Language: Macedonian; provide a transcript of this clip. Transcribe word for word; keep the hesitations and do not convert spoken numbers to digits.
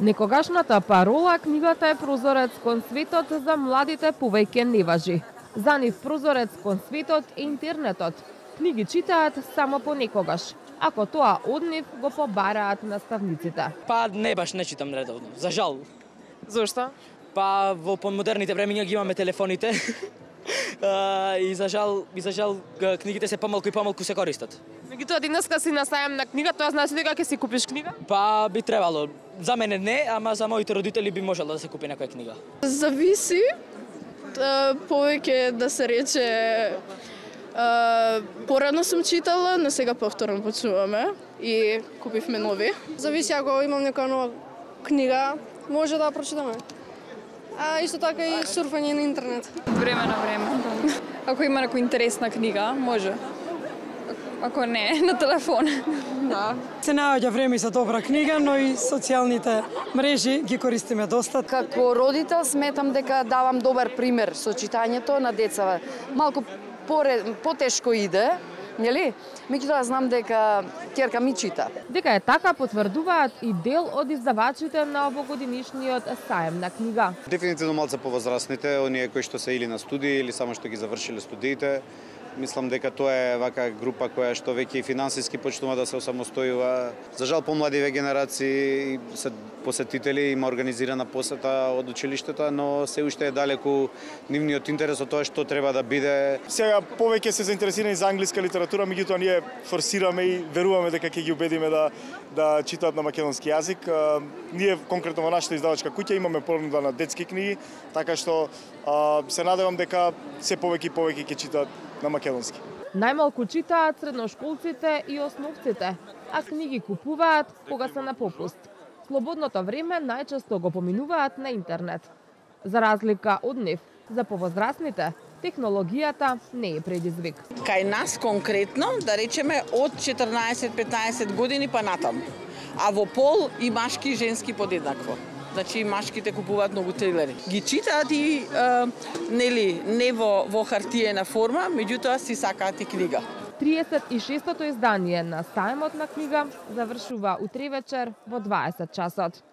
Некогашната парола книгата е прозорец кон светот за младите повеќе не важи. За нив прозорец кон светот е интернетот. Книги читаат само понекогаш. Ако тоа од нив го побараат наставниците. Па не баш не читам редовно, за жал. Зошто? Па во помодерните времиња ги имаме телефоните. Uh, и за жал, и за жал книгите се помалку и помалку се користат. Меѓутоа денеска си на сајам на книга, тоа значи дека ќе си купиш книга? Па би требало. За мене не, ама за моите родители би можело да се купи некоја книга. Зависи. Повеќе да се рече порано сум читала, но сега повторно почнуваме и купивме нови. Зависи, ако имам нека нова книга, може да ја прочитаме. А исто така и сурфање на интернет. Време на време. Ако има некоја интересна книга, може. Ако не, на телефон. Да. Се наоѓа време за добра книга, но и социјалните мрежи ги користиме доста. Како родител сметам дека давам добар пример со читањето на децата. Малку потешко иде, нели? Меѓутоа знам дека ќерка ми чита. Дека е така потврдуваат и дел од издавачите на овогодинишниот саем на книга. Дефинитивно малце повозрастните, оние кои што се или на студии или само што ги завршиле студиите. Мислам дека тоа е вака група која што веќе и финансиски почнува да се осамостојува. За жал помладиве генерации се посетители, има организирана посета од училиштето, но се уште е далеку нивниот интерес од тоа што треба да биде. Сега повеќе се заинтересирани за англиска литература, меѓутоа ние форсираме и веруваме дека ќе ги убедиме да да читаат на македонски јазик. Ние конкретно во нашата издавачка куќа имаме понуда на детски книги, така што се надевам дека се повеќе и повеќе ќе читаат на македонски. Најмалку читаат средношколците и основците, а книги купуваат кога се на попуст. Слободното време најчесто го поминуваат на интернет. За разлика од нив, за повозрастните, технологијата не е предизвик. Кај нас конкретно, да речеме, од четрнаесет-петнаесет години па натаму. А во пол и машки и женски подеднакво. Значи машките купуваат многу трилери. Ги читаат и е, нели не во во хартиена форма, меѓутоа си сакаат и книга. триесет и шестото издание на Саемот на книга завршува утре вечер во дваесет часот.